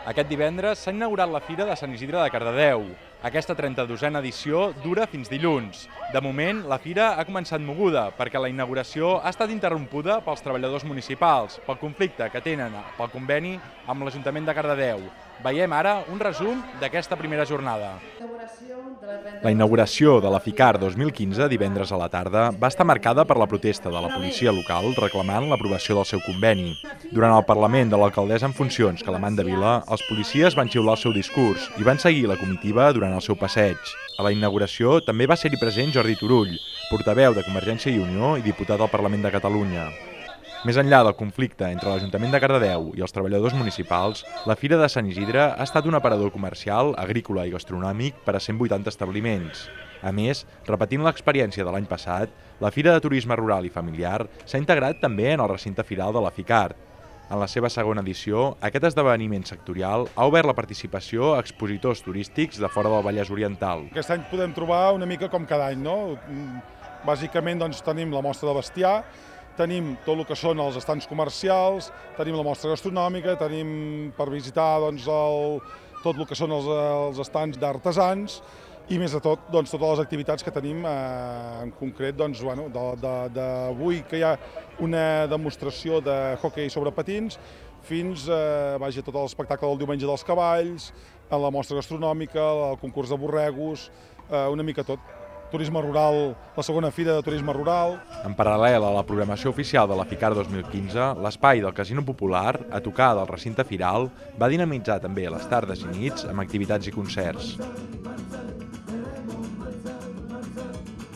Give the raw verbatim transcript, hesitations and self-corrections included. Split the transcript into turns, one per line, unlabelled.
Aquest divendres s'ha inaugurat la Fira de Sant Isidre de Cardedeu. Aquesta trenta-dosena edició dura fins dilluns. De moment, la fira ha començat moguda perquè la inauguració ha estat interrompuda pels treballadors municipals, pel conflicte que tenen pel conveni amb l'Ajuntament de Cardedeu. Veiem ara un resum d'aquesta primera jornada. La inauguració de la FICAR dos mil quinze, divendres a la tarda, va estar marcada per la protesta de la policia local reclamant l'aprovació del seu conveni. Durant el Parlament de l'alcaldessa en funcions, Calamanda Vila, els policies van xiular el seu discurs i van seguir la comitiva durant el seu passeig. A la inauguració també va ser-hi present Jordi Turull, portaveu de Convergència i Unió i diputat al Parlament de Catalunya. Més enllà del conflicte entre l'Ajuntament de Cardedeu i els treballadors municipals, la Fira de Sant Isidre ha estat un aparador comercial, agrícola i gastronòmic per a cent vuitanta establiments. A més, repetint l'experiència de l'any passat, la Fira de Turisme Rural i Familiar s'ha integrat també en el recinte firal de la FICAR. En la seva segona edició, aquest esdeveniment sectorial ha obert la participació a expositors turístics de fora del Vallès Oriental.
Aquest any podem trobar una mica com cada any, no? Bàsicament doncs, tenim la mostra de bestiar, tenim tot el que són els estants comercials, tenim la mostra gastronòmica, tenim per visitar doncs, el, tot el que són els, els estants d'artesans i més de tot doncs, totes les activitats que tenim eh, en concret doncs, bueno, d'avui que hi ha una demostració de hoquei sobre patins fins eh, vaja, tot l'espectacle del diumenge dels cavalls, la mostra gastronòmica, el concurs de borregos, eh, una mica tot. Turisme rural, la segona fira de turisme rural.
En paral·lel a la programació oficial de la FICAR dos mil quinze, l'espai del Casino Popular, a tocar del recinte firal, va dinamitzar també les tardes i nits amb activitats i concerts.